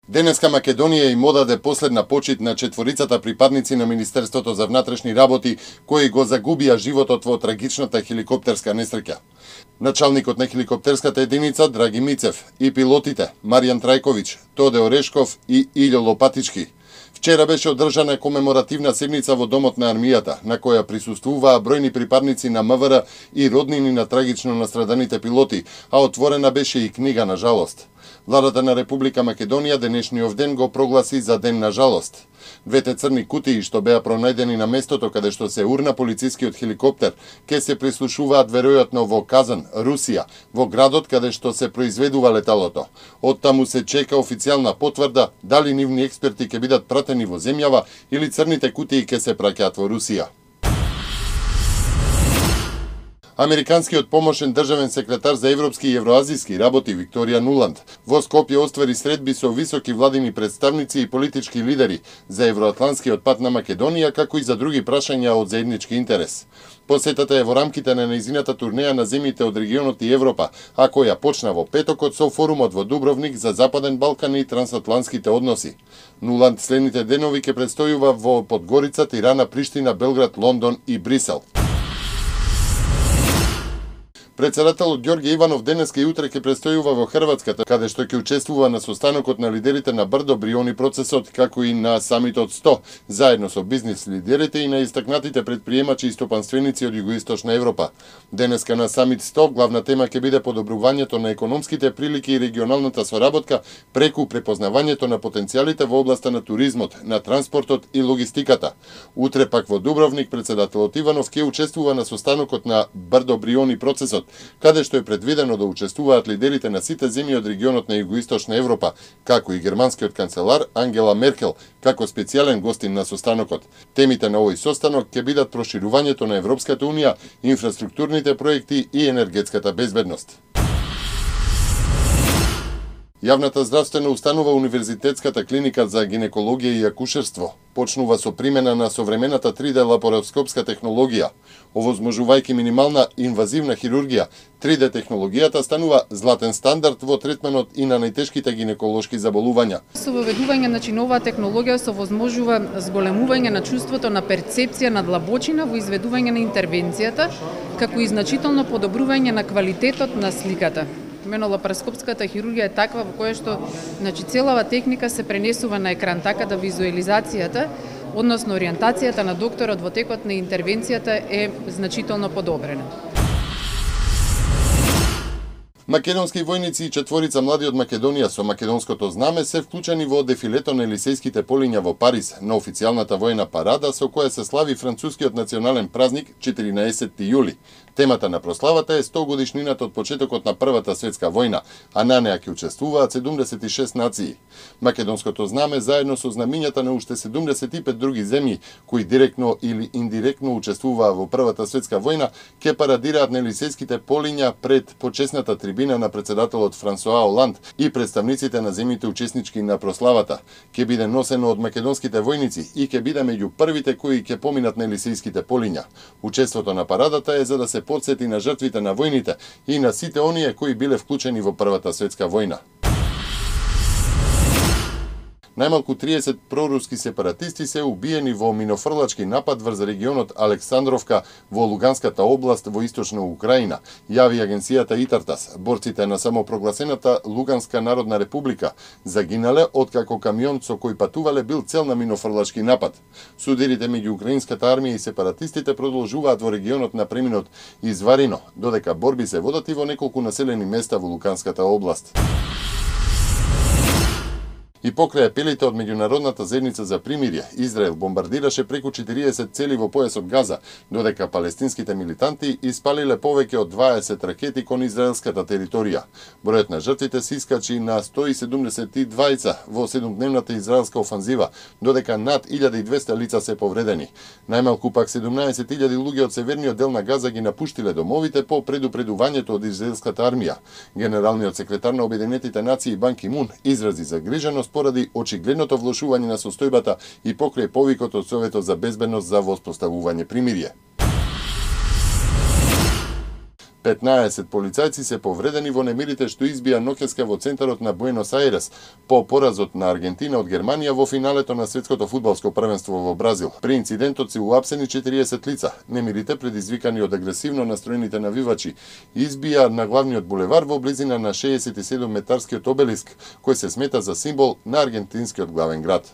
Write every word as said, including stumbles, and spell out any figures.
Денеска Македонија им одаде последна почит на четворицата припадници на Министерството за внатрешни работи кои го загубија животот во трагичната хеликоптерска несреќа. Началникот на хеликоптерската единица Драги Мицев и пилотите Маријан Трајковиќ, Тоде Орешков и Илјо Лопатички. Вчера беше одржана комеморативна седница во Домот на армијата, на која присуствуваа бројни припадници на МВР и роднини на трагично настраданите пилоти, а отворена беше и книга на жалост. Владата на Република Македонија денешниот ден го прогласи за ден на жалост. Двете црни кутии што беа пронајдени на местото каде што се урна полицискиот хеликоптер, ке се прислушуваат веројатно во Казан, Русија, во градот каде што се произведува леталото. Оттаму се чека официјална потврда дали нивни експерти ќе бидат пратени во земјава или црните кутии ќе се праќаат во Русија. Американскиот помошен државен секретар за европски и евроазиски работи Викторија Нуланд во Скопје оствари средби со високи владини представници и политички лидери за евроатлантскиот пат на Македонија, како и за други прашања од заеднички интерес. Посетата е во рамките на нејзината турнеја на земјите од регионот и Европа, а која почна во петокот со форумот во Дубровник за Западен Балкан и трансатлантските односи. Нуланд следните денови ќе предстојува во Подгорица, Тирана, Приштина, Белград, Лондон и Брисел. Председателот Ѓорѓе Иванов денеска и утре ќе престојува во Хрватската, каде што ќе учествува на состанокот на лидерите на Брдо Бриони процесот, како и на самитот сто, заедно со бизнис лидерите и на истакнатите предприемачи и стопанственици од Југоисточна Европа. Денеска на самит сто главна тема ќе биде подобрувањето на економските прилики и регионалната соработка преку препознавањето на потенцијалите во областа на туризмот, на транспортот и логистиката. Утре пак во Дубровник председателот Иванов ќе учествува на состанокот на Брдо Бриони процесот, каде што е предвидено да учествуваат лидерите на сите земји од регионот на Југоисточна Европа, како и германскиот канцелар Ангела Меркел, како специјален гостин на состанокот. Темите на овој состанок ќе бидат проширувањето на Европската унија, инфраструктурните проекти и енергетската безбедност. Јавната здравствена установа Универзитетската клиника за гинекологија и акушерство почнува со примена на современата три Д лапароскопска технологија. Овозможувајќи минимална инвазивна хирургија, три Д технологијата станува златен стандард во третманот и на најтешките гинеколошки заболувања. Со воведување на новаа технологија се возможува зголемување на чувството на перцепција на длабочина во изведување на интервенцијата, како и значително подобрување на квалитетот на сликата. Имено лапароскопската хирургија е таква во која што значи целава техника се пренесува на екран, така да визуализацијата, односно ориентацијата на докторот во текот на интервенцијата е значително подобрена. Македонски војници и четворица млади од Македонија со македонското знаме се вклучени во дефилето на Елисејските полиња во Париз на официјалната војна парада со која се слави францускиот национален празник четиринаесетти јули. Темата на прославата е сто годишнината од почетокот на Првата светска војна, а на неа ќе учествуваат седумдесет и шест нации. Македонското знаме заедно со знамињата на уште седумдесет и пет други земји кои директно или индиректно учествуваа во Првата светска војна ќе парадираат на Елисејските полиња пред почесната трибина на председателот Франсоа Оланд и представниците на земјите учеснички на прославата. Ќе биде носено од македонските војници и ќе биде меѓу првите кои ќе поминат на Елисејските полиња. Учеството на парадата е за да се подсети на жртвите на војните и на сите оние кои биле вклучени во Првата светска војна. Најмалку триесет проруски сепаратисти се убиени во минофрлачки напад врз регионот Александровка во Луганската област во источна Украина, јави агенцијата Итартас. Борците на самопрогласената Луганска народна република загинале откако камион со кој патувале бил цел на минофрлачки напад. Судирите меѓу украинската армија и сепаратистите продолжуваат во регионот на преминот Изварино, додека борби се водат и во неколку населени места во Луганската област. И покрај апелите од меѓународната заедница за примирие, Израел бомбардираше преку четириесет цели во појасот Газа, додека палестинските милитанти испалиле повеќе од дваесет ракети кон израелската територија. Бројот на жртвите се искачи на сто и седумдесет и двајца во седумдневната израелска офанзива, додека над илјада и двесте лица се повредени. Најмалку пак седумнаесет илјади луѓе од северниот дел на Газа ги напуштиле домовите по предупредувањето од израелската армија. Генералниот секретар на Обединетите нации Бан Ки Мун изрази загриженост поради очигледното влошување на состојбата и покрај повикот од Советот за безбедност за воспоставување примирие. петнаесет полицајци се повредени во немирите што избија ноќеска во центарот на Буенос Ајрес по поразот на Аргентина од Германија во финалето на светското фудбалско првенство во Бразил. При инцидентот се уапсени четириесет лица. Немирите, предизвикани од агресивно настроените навивачи, избија на главниот булевар во близина на шеесет и седум метарскиот обелиск, кој се смета за символ на аргентинскиот главен град.